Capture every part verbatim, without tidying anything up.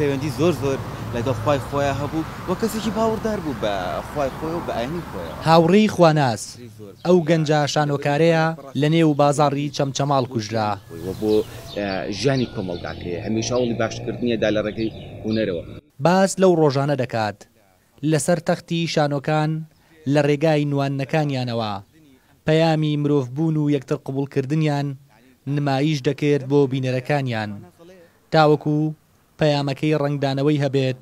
پەیوەندی زۆر زۆر لەگەڵ خوای خۆیان هەبوو و کەسێکی باوەڕدار بوو بە خوای خۆی و بە ئاینی خۆیەوە. هاوڕێی خواناس، ئەو گەنجە شانۆکارەیە لەنێو بازاڕی چەمچەماڵ کوژرا. و بۆ ژیانی کۆمەڵگاکەی هەمیشە هەوڵی باشکردنیدا لە ڕێگەی هونەرەوە. باس لەو ڕۆژانە دەکات لەسەر تەختی شانۆکان لە ڕێگای نواندنەکانیانەوە پەیامی مرۆڤبوون و یەکتر قبوڵکردنیان نمایش دەکرد بۆ بینەرەکانیان تاوەکو پەیامەکەی ڕەنگدانەوەی هەبێت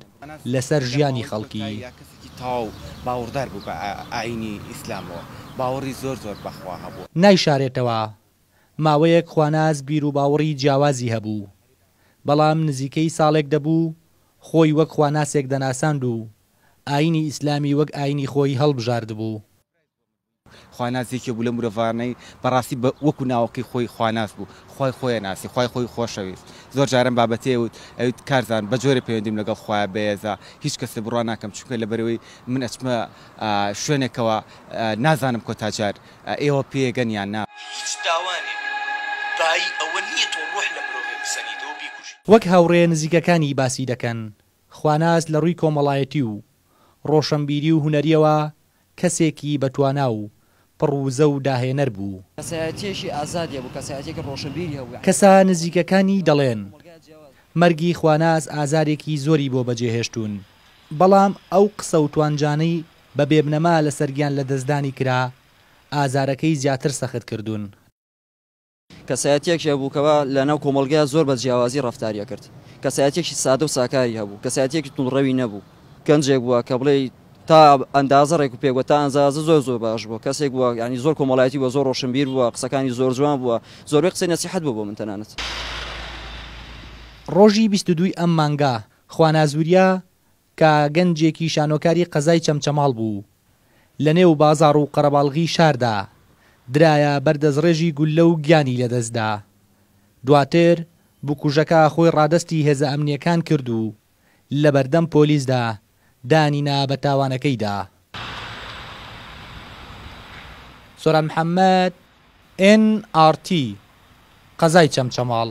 لەسەر ژیانی خەڵکی. کەسێکی تەواو باوەڕدار بوو بە ئاینی ئیسلامەوە، باوەڕی زۆر زۆر بەخوا هەبوو. نایشارێتەوە ماوەیەک خواناس بیروباوەڕی جیاوازی هەبوو، بەڵام نزیکەی ساڵێک دەبوو خۆی وەک خواناسێک دەناساند و ئاینی ئیسلامی وەک ئاینی خۆی هەڵبژاردبوو. خواناس یەکێ بوو لە مرۆڤانەی بەڕاستی وەکو ناوەکەی خۆی خواناس بوو، خوای خۆیان ناسی، خوای خۆی خۆشەویست. زۆر جارم بابەتێ وت ئەوت کارزان بە جۆرە پەیوەندیم لەگەڵ خوایە بەیەزا هیچ کەسێ بڕوا ناکەم، چونکە لەبەرەوەی من ئەچمە شوێنێکەوە نازانم کۆتا جار ئێوە پێگەن یان نا. هیچ تاوانێک بایی ئەوە نییە تۆ ڕۆح لە مرۆڤێک بسەنیتەوە بیکوژی. وەک هاوڕێ نزیکەکانی باسی دەکەن، خواناس لە ڕووی کۆمەڵایەتی و ڕۆشنبیری و هونەریەوە کەسێکی بەتوانا و پڕ وزە و داهێنەر بوو. کەسایەتیەکی ئازادیە بوو، کەسایەتیەکی ڕۆشنبیری هەبوو. کەسە نزیکەکانی دەڵێن مەرگی خواناس ئازارێکی زۆری بۆ بەجێهێشتون، بەڵام ئەو قسە و توانجانەی بە بێبنەما لەسەر گیان لەدەستدانی کرا ئازارەکەی زیاتر سەخت کردوون. کەسایەتیەکی هەبوو کەوا لەناو کۆمەڵگا زۆر بە جیاوازی ڕەفتاریە کرد، کەسایەتیەکی سادە و ساکاری هەبوو، کەسایەتیەکی توندڕەوی نەبوو، گەنجێک بووە کە بڵێ تا ئەندازە ڕێک و پێک بووە، تا ئەندازە زۆر زۆر باش بووە، کەسێک بووە یعنی زۆر کۆمەڵایەتی بووە، زۆر ڕۆشنبیر بووە، قسەکانی زۆر جوان بووە، زۆربەی قسەی نەسیحەت بوو بۆ من تەنانەت. ڕۆژی بیست و دووی ئەم مانگا خواناس وریا کە گەنجێکی شانۆکاری قەزای چەمچەماڵ بوو لەنێو بازاڕ و قەرەباڵغی شاردا درایە بەردەستڕێژی گولە و گیانی لەدەستدا. دواتر بکوژەکە خۆی ڕادەستی هێزە ئەمنیەکان کرد و لەبەردەم پۆلیسدا دانینا بە تاوانەکەیدا. سۆران محەممەد، ئێن ئاڕ تی، قەزای چەمچەماڵ.